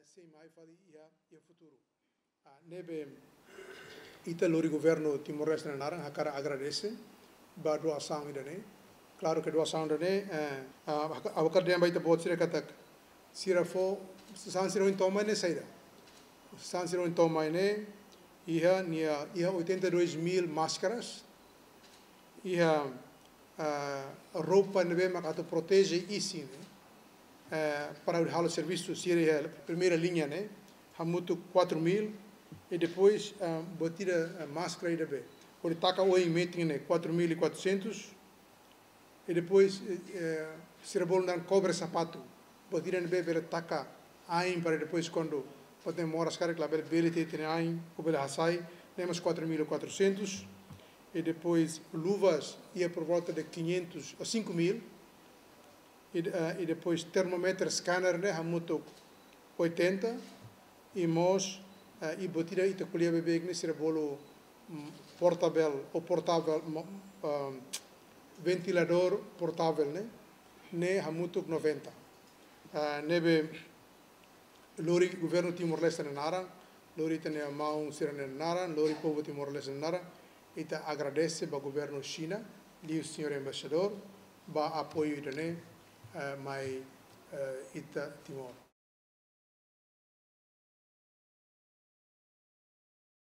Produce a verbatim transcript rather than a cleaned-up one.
sei mai fali iha iha futuru. Ah, ne'ebé ita lori governu Timor-Leste nia naran hakarak agradese ba doasaun ida-ne'e. Klaru ke doasaun ida-ne'e, eh, ah, haka- hakarak dehan ba ita-boot sira katak sira fó, sasán sira ohin to'o mai ne'e saida. Sasán sira ohin to'o mai ne'e iha nia iha oitenta e dois mil máscaras, iha, ah, roupa ne'ebé maka atu proteje isin ne'e, eh, para halo servisu sira iha primeira linha ne'e, hamutuk quatro mil, e depois, ah, buat ida, ah, máscara ida be. Hodi taka oin metin ne'e quatro mil e quatrocentos, e depois, eh, eh, sira bolu naran cobre-sapato. Buat ida ne'ebé bele taka ain para depois kuandu buat ne'e moras karik labele bele tiha ita-nia ain, ou bele hasai, ne'e mós quatro mil e quatrocentos. E depois luvas iha por volta de quinhentos ou cinco mil. E, eh, e depois termómetru, scanner ne'e hamutuk oitenta, e mós, eh, e buat ida ita ko'alia beibeik ne'e sira bolu, mm, portável, ou portável, mo- ah, ventiladór portável ne'e, ne'e hamutuk noventa. Ah, ne'ebé lori governu Timor-Leste nia naran, lori ita-nia maun sira-nia naran, lori povu Timor-Leste nia naran, ita agradese ba governu Xina, liuhusi señór embaixadór, ba apoiu ida-ne'e, eh, mai, eh, ita Timor.